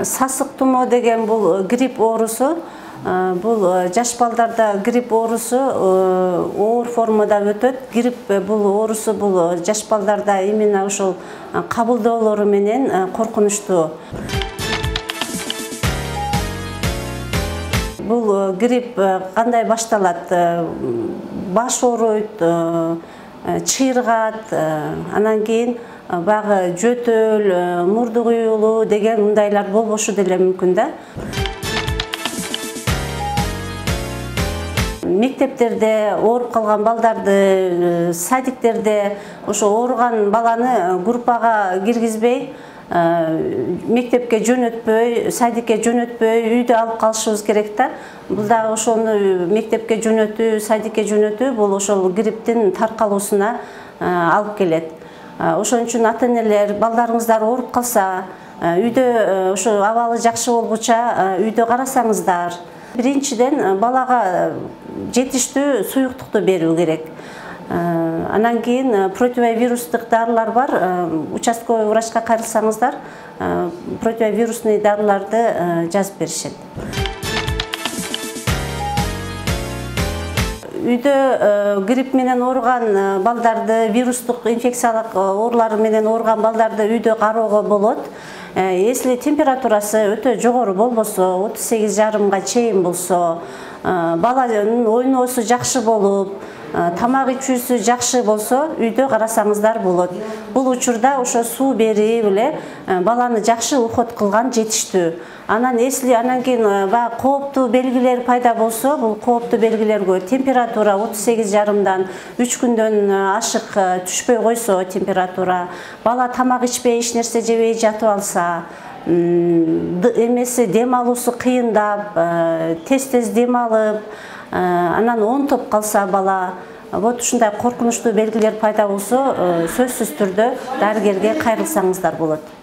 Сасык тумоо деген бул грипп оорусу. Бул жаш балдарда грипп оорусу оор формада өтөт. Грипп бул оорусу бул жаш балдарда именно ошол кабылдоолору менен коркунучтуу. Бул грипп кандай башталат? Баш ооруйт, чыйыргат, анан кийин багы жөтөл, мурду куюлуу деген мындайлар болбошу деле мүмкүн да. Мектептерде ооруп калган балдарды, садиктерде ошо ооруган баланы группага киргизбей, мектепке жөнөтпөй, садикке жөнөтпөй, үйдө алып калышыбыз керек да. Бул дагы ошону мектепке жөнөтүү, садикке жөнөтүү бул ошол грипптин таркалуусуна алып келет. Ошон үчүн ата-энелер балдарыңыздар ооруп калса, үйдө ошо абалы жакшы болгуча үйдө карасаңыздар. Биринчиден балага жетиштүү суюктукту берүү керек. Анан кийин противовирустук дарылар бар. Участковый врачка кайрылсаңыздар, противовирусный дарыларды жазып беришет. Үйдө грипп менен ооруган балдарды, вирустук инфекциялык оорулар менен ооруган балдарды үйдө кароого болот. Если температурасы өтө жогору болбосо, 38,5 чейин болсо, баланын ойноосу жакшы болуп, тамак ичүүсү жакшы болсо, үйдө карасаңыздар болот. Бул учурда ошо суу берип эле баланы жакшы уход кылган жетиштүү. Анан кийин баягы кооптуу белгилер пайда болсо, бул кооптуу белгилерге температура 38,5дан 3 күндөн ашык түшпөй койсо температура, бала тамак ичпей, эч нерсе жебей жатып алса, эмеси дем алуусу кыйындап, тез дем алып, анан онтоп калса бала, вот ушундай коркунучтуу белгилер пайда болсо, сөзсүз түрдө дарыгерге кайрылсаңыздар болот.